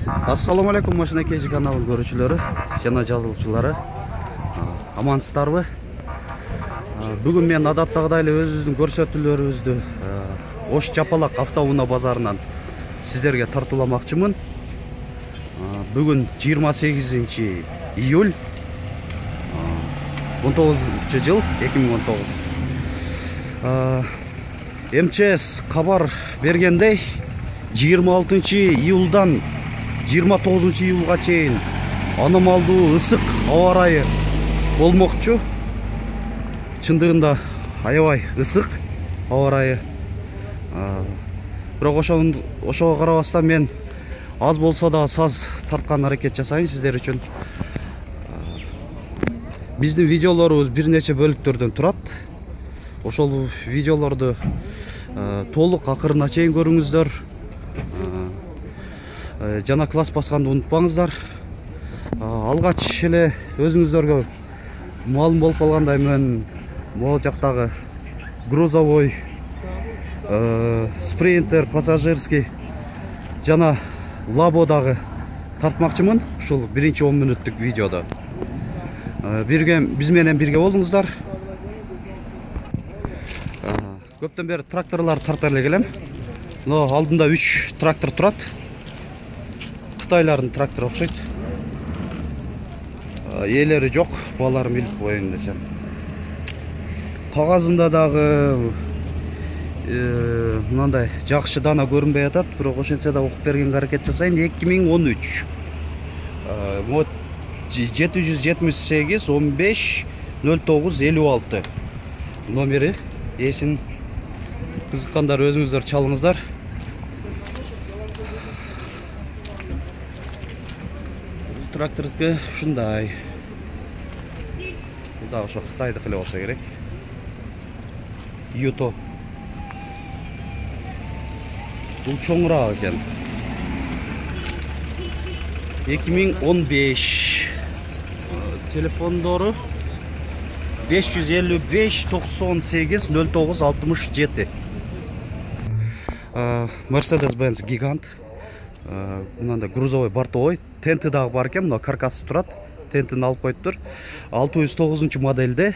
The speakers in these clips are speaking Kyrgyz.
Assalamu alaikum Машина KG каналынын көрүүчүлөрү жана жазылуучулары. Амансыздарбы? Бүгүн мен адаттагыдай эле өзүбүздүн көрсөтүүлөрүбүздү Ош Жапалак автоунаа базарынан сиздерге тартууламакчымын. Бүгүн 28 июль 19-жыл 2019. МЧС кабар бергендей 26 июлдан 29 июлга чейин аномалдуу ысык аба ырайы болмокчу. Чындыгында аябай ысык аба ырайы. Бирок ошого карабастан мен аз болсо да саз тарткан аракет жасайын сиздер үчүн. Биздин видеолорубуз бир нече бөлүктөрдөн турат. Ошол видеолорду толук акырына чейин көрүңүздөр. Жана класс басканды унутпаңыздар. Алгач эле өзүңүздөргө маалым болуп калгандай мен могу жактагы грузовой, спринтер, пассажирский жана лабодагы тартмакчымын ушул биринчи 10 мүнөттүк видеодо. Биз менен бирге болуңуздар. Көптөн бери тракторлар тарта эле келем. Но алдында 3 трактор турат. Кытайлардын трактору окшойт. Ээлери жок, баларым билип коеюн десем. Кагазында дагы мындай жакшы дана көрүнбөй атат, бирок ошентсе да окуп бергенге аракет жасайын. 2013 778 15 09 56 номери. Эсин кызыккандар өзүңүздөр чалыңыздар. Трактордуку ушундай. Да, ошо Кытайдыкы эле болсо керек. Юто. Бул чоңураак экен. 2015. Телефондору 555 98 09 67. Mercedes-Benz гигант. Мынандай грузовой бортовой. Тенти дагы бар экен, мына каркасы турат. Тентин алып коюптур. 609 модельде.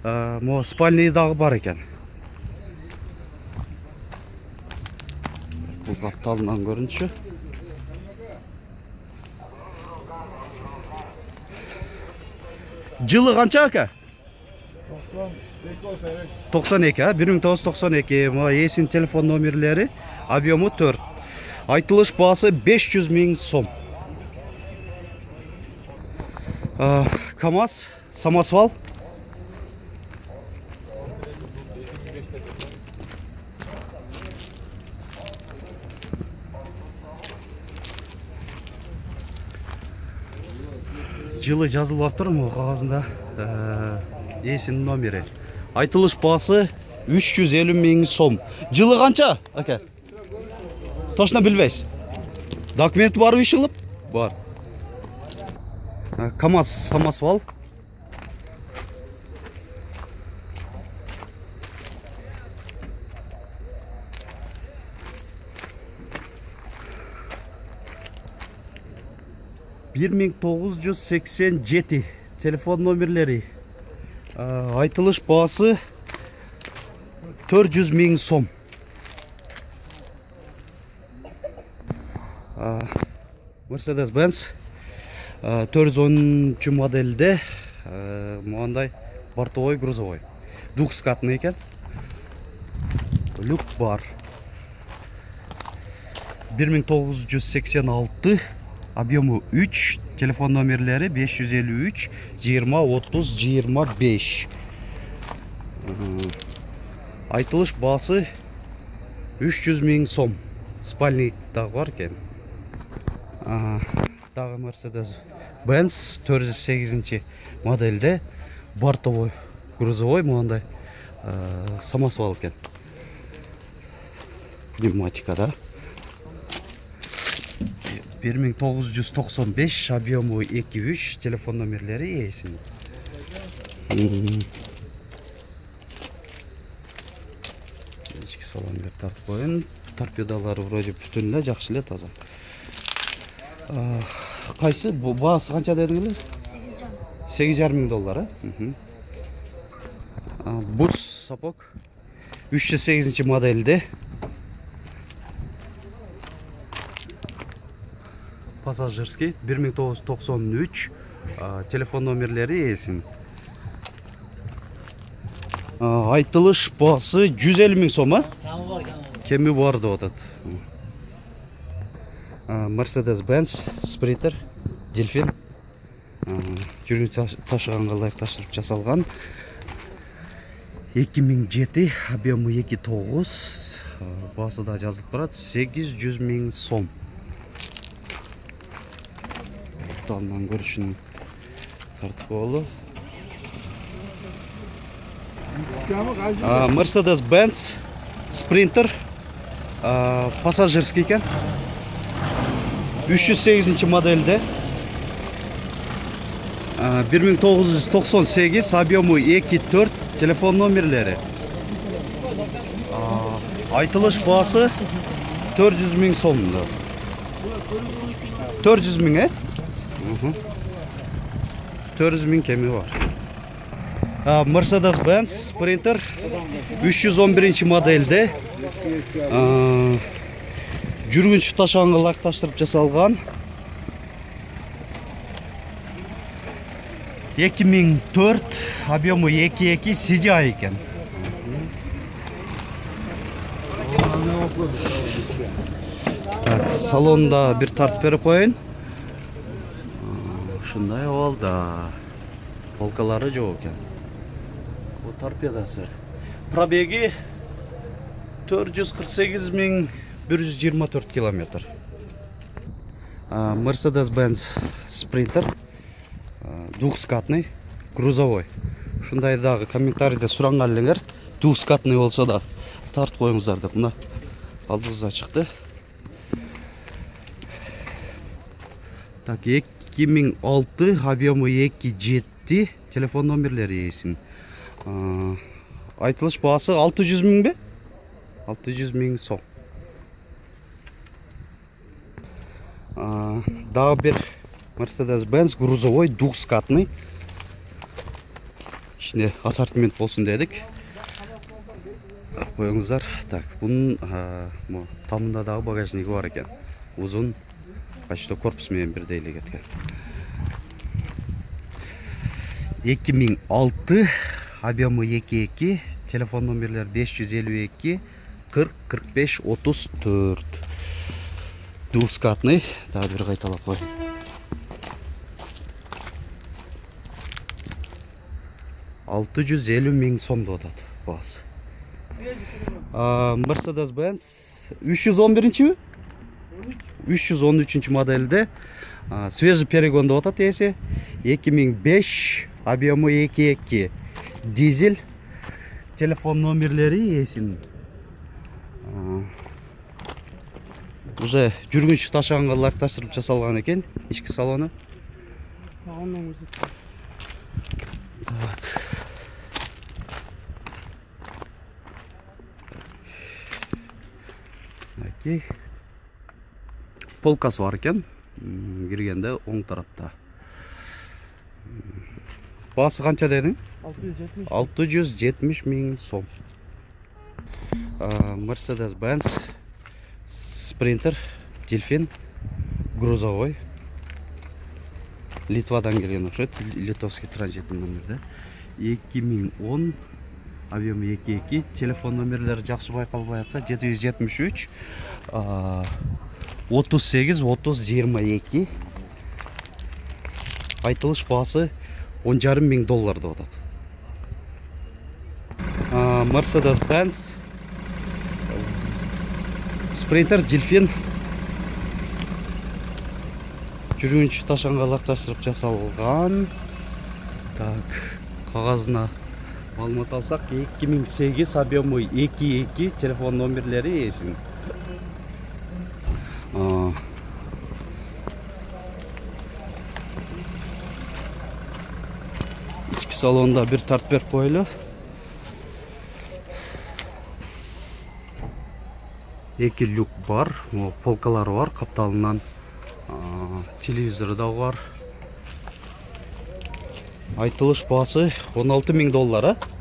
Мо спальный дагы бар экен. Бул капталынан көрүнүшү. Жылы канча ака? 92, 1992. Мо эсин телефон номерлери, объему 4. Айтылыш баасы 500 000 сом. КамАЗ, самосвал. Жылы жазылып аптыр му кагазында. Эсин номери. Айтылыш баасы 350 000 сом. Жылы канча, ака? Точно билбейсиз. Документи барбы ишилип? Бар. КамАЗ самосвал. «1987 телефон номерлери. Айтылыш баасы 400 000 сом. Mercedes-Benz 410 модельде мындай бортовой грузовой. Двухскатный экен. Люк бар. 1986, объему 3, телефон номерлери 553 20 30 25. Айтылыш баасы 300 000 сом. Спальник дагы бар экен. Дагы Mercedes-Benz 408 модельде бортовой грузовой мындай самосвал экен. Пневматика да. 1995, объему 2-3, телефон номерлери эсин. Ички салондор тартып коюн. Торпедалары вроде бүтүн эле, жакшы эле, таза. Кайсы? Баасы канча дедиңер? $8,500, Бус сапог 308 модельде. Пассажирский 1993. Телефон номерлери эсин. Айтылыш баасы 150,000 сом, Кеми бар деп атат. Mercedes-Benz Sprinter Delfin. Жүргүн ташыганга ылайык таштырып жасалган. 2007, объемы 2.9. Баасы да жазылып турат. 800,000 сом. Талынан көрүшүн тартып болу. Mercedes-Benz Sprinter пассажирский экен. 308 модельде. 1998, объемы 2.4, телефон номерлери. Айтылыш баасы 400,000 сом. 400,000, 400,000 кеми бар. Mercedes-Benz Sprinter 311 модельде. Жүргүнчү ташыганга ылайык таштырып жасалган. 2004, объемы 2.2, CGI экен. Салонда бир тартып берип коеюн. Ушундай болду. Полкалары жок экен. Торпедасы. Пробеги 448,124 километр. Mercedes-Benz Sprinter двухскатный, грузовой. Ушундай дагы комментарийде суранган элеңер, двухскатный болсо да тартып коюңуздар деп. Мына алдыбызга чыкты. Так, 2006, объемы 2.7, телефон номерлери эсин. Айтылыш баасы 600,000 бе? 600,000 сом. Дагы бир Mercedes-Benz грузовой двухскатный. Ичинде ассортимент болсун дедик. Коюңуздар. Так, бунун тамында дагы багажниги бар экен. Узун, почти корпус менен бирдей эле кеткен. 2006, объемы 2.2, телефон номерлер 552 40 45 34. Двухскатный, дагы бир кайталап кой. $650,000 сом деп атат баасы. Mercedes-Benz 311-чи? 313 модельде. Свежий перегон деп атат эси. 2005, объемы 2.2. Дизель. Телефон номерлери эсин. Уже жүргүнчү ташыганга ылайык таштырып жасалган экен, ички салону. Так. Окей. Полкасы бар экен. Киргенде оң тарапта. Баасы канча дедиң? 670,000 сом. Mercedes-Benz Sprinter Delfin грузовой. Литвадан келген окшойт, литовский транзитный номерде. 2010, объемы 2.2, телефон номерлери жакшы байкалбай атса 773 38 30 22. Айтылыш баасы $10,500 деп атат. Mercedes-Benz Sprinter Delfin жүргүнчү ташыганга ылайык таштырып жасалган. Так, кагазына маалымат алсак, 2008, объемы 2.2, телефон номерлери эсин. Ички салонда бир тартып берип коелу. Эки люк бар, полкалары бар, капталынан телевизору да бар. Айтылыш баасы $16.000, а?